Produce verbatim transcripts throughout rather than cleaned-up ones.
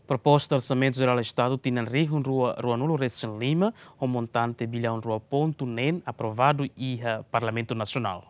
Proposta Orsamentu Jerál Estadu tinan rihun rua ruanulu resin lima, ho montante biliaun rua pontu neen, aprovadu iha Parlamentu Nasionál.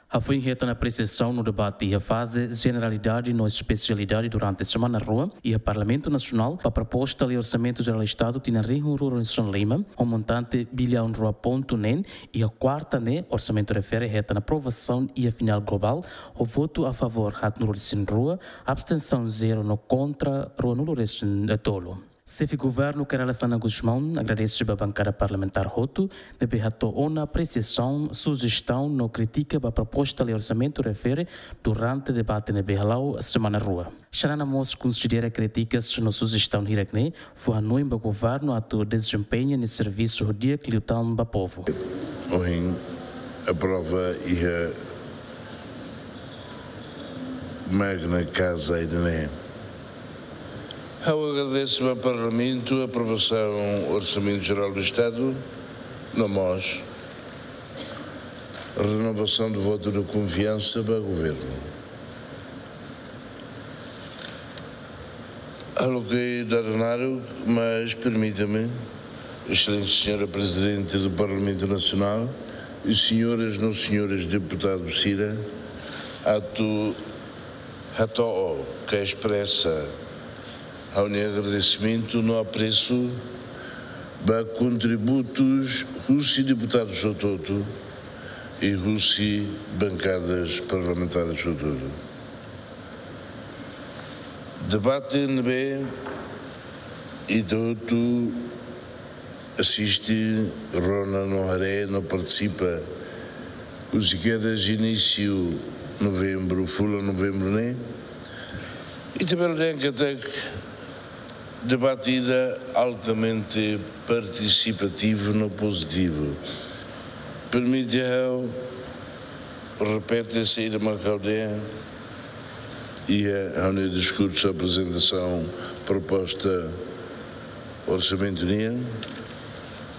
Hafoin hetan apresiasaun no debate iha faze jeneralidade no espesialidade durante semana rua iha Parlamentu Nasionál ba proposta lei Orsamentu Jerál Estadu tinan rihun rua ruanulu resin lima, ho montante biliaun rua pontu neen, iha kuarta ne'e orsamentu refere hetan aprovasaun iha final globál, ho votu a favór haatnulu resin rua, abstensaun zero no kontra ruanulu resin tolu. Xefe Governu Kay Rala Xanana Gusmão agradese ba bankada parlamentár hotu ne'ebé hato'o ona apresiasaun, sujestaun no krítika ba proposta lei orsamentu refere durante debate ne'ebé hala'o semana rua. Xanana mós konsidera krítikas no sujestaun hirak-ne'e, fó hanoin ba governu atu dezempeña nia servisu ho di'ak liután ba povu. Ohin aprova iha magna casa ida-ne'e. Ha'u agradese ba Parlamentu aprovasaun Orsamentu Jerál do Estadu, no mós renovasaun do votu de konfiansa ba governu. Ha'u lakohi dada naruk, mas permita-me, Exelénsia Señora Prezidente do Parlamentu Nasionál i señoras no señores deputadus sira, atu hato'o ka espresa ha'u-nia agradesimentu no apresu ba kontributus husi deputadus hotu-hotu i husi bankadas parlamentares hotu-hotu. Debate ne'ebé ita hotu asiste, rona no haree no partisipa husi kedas inísiu novembru, fulan novembru ne'e, ita bele dehan katak debate ida altamente partisipativu no pozitivu. Permite ha'u repete saida mak ha'u dehan iha ha'u-nia diskursu aprezentasaun proposta orsamentu nian,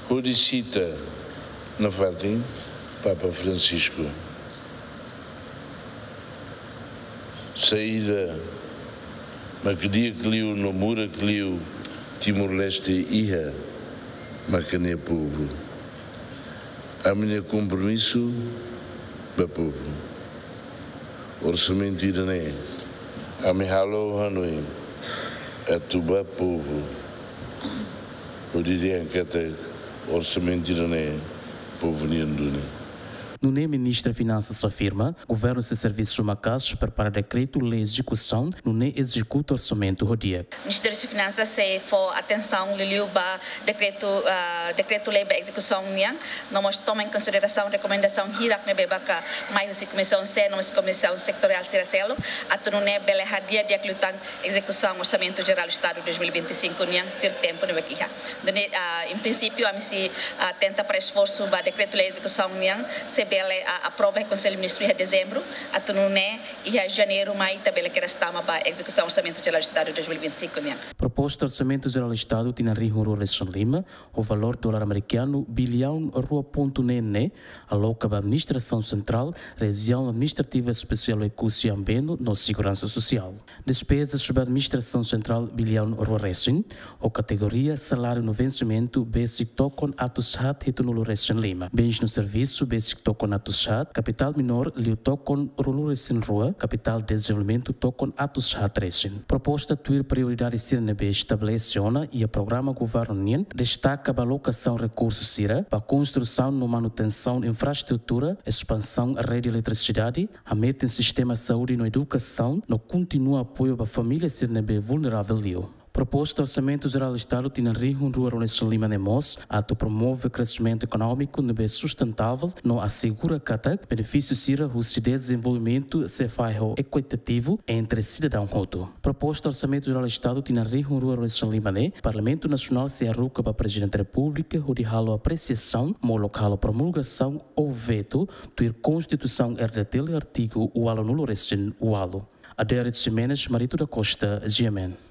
hodi sita nafatin Papa Francisco. Saida mak di'ak liu no murak liu Timor-Leste iha maka nia povu. Ami-nia kompromisu ba povu. Orsamentu ida-ne'e, ami halo hanoin atu ba povu. Hodi dehan katak orsamentu ida-ne'e povu nian duni. Nune'e Ministra Finansas afirma, governu sei servisu maka'as prepara dekretu-lei ezekusaun, nune'e ezekuta orsamentu ho di'ak. Ministériu Finansas sei fó atensaun liuliu ba dekretu, ah, dekretu-lei ba ezekusaun nian, no mós toma em consideração rekomendasaun hirak ne'ebé maka mai husi Komisaun C, no mós komisaun setoriál sira seluk, atu nune'e bele hadi'a di'ak liután ezekusaun Orsamentu Jerál Estadu dois mil e vinte e cinco nian tuir tempu ne'ebé iha. Nune'e, ah, em princípio, ami sei, ah, tenta para esforsu ba dekretu-lei ezekusaun nian, sei bele, ah, aprova iha Konsellu Ministru iha dezembru, atu nune'e iha janeiru mai ita bele kedas tama ba ezekusaun Orsamentu Jerál Estadu dois mil e vinte e cinco nian. Proposta Orsamentu Jerál Estadu tinan rihun rua resin lima, ho valór dolar amerikanu biliaun rua pontu neen ne'e, aloka ba administrasaun sentrál, rejiaun administrativa espesiál Oekusi Ambeno no seguransa sosiál. Despezas ba administrasaun sentrál biliaun rua resin, ho kategoria saláriu no vensimentu besik tokon atus haat hitunulu resin lima. Bens no servisu besik tokon atus haat, kapitál minór liu tokon ruanulu resin rua, kapitál dezenvolvimentu tokon atus haat resin. Proposta tuir prioridade sira ne'ebé estabelese ona iha programa governu nian, destaka ba alokasaun rekursu sira ba konstrusaun no manutensaun infraestrutura, espansaun rede eletrisidade, hametin sistema saúde no edukasaun, no kontinua apoiu ba família sira ne'ebé vulneravel liu. Proposta Orsamentu Jerál Estadu tinan rihun rua ruanulu resin lima ne'e mós atu promove kresimentu ekonómiku ne'ebé sustentável no asegura katak benefísiu sira husi dezenvolvimentu sei fahe ho ekuitativu entre sidadaun hotu. Proposta Orsamentu Jerál Estadu tinan rihun rua ruanulu resin lima ne'e, Parlamentu Nasionál sei haruka ba Prezidente Repúblika hodi halo apresiasaun, molok halo promulgasaun ou vetu, tuir Konstituisaun R D T L artigu ualunulu resin ualu. Adérito Ximenes, Marito da Costa, G M N.